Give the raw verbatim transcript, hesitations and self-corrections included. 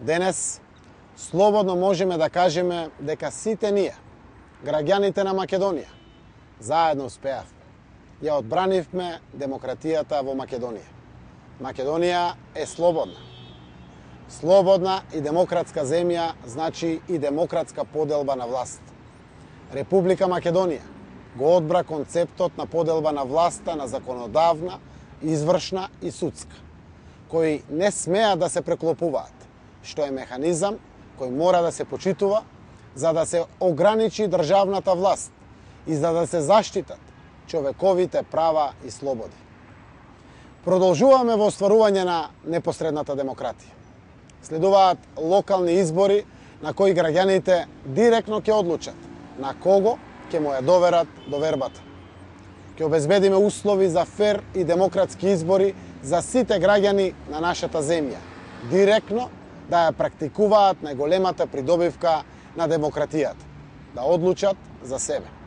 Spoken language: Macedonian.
Денес слободно можеме да кажеме дека сите ние, граѓаните на Македонија, заедно успеавме. Ја одбранивме демократијата во Македонија. Македонија е слободна. Слободна и демократска земја значи и демократска поделба на власт. Република Македонија го одбра концептот на поделба на власта на законодавна, извршна и судска, кои не смеат да се преклопуваат, што е механизам кој мора да се почитува за да се ограничи државната власт и за да се заштитат човековите права и слободи. Продолжуваме во остварување на непосредната демократија. Следуваат локални избори на кои граѓаните директно ќе одлучат на кого ќе му ја доверат довербата. Ќе обезбедиме услови за фер и демократски избори за сите граѓани на нашата земја, директно да ја практикуваат најголемата придобивка на демократијата, да одлучат за себе.